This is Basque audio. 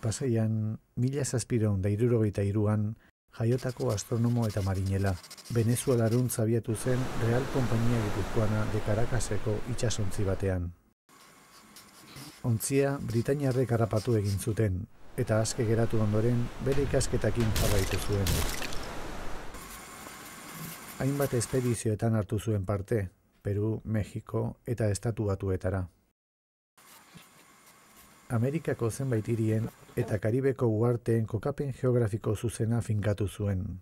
Pasaian, 1763an jaiotako astronomo eta marinela, Venezuelarun zabiatu zen Real Kompainia Gipuzkoana de Caracaseko itsasontzi batean. Ontzia Britainiarrek harrapatu egin zuten, eta aske geratu ondoren bere ikasketakin jarraitu zuen. Hainbat espedizioetan hartu zuen parte, Peru, Mexiko eta Estatu Batuetara. Amerikako zenbait hirien eta Karibeko uharteen kokapen geografiko zuzena finkatu zuen.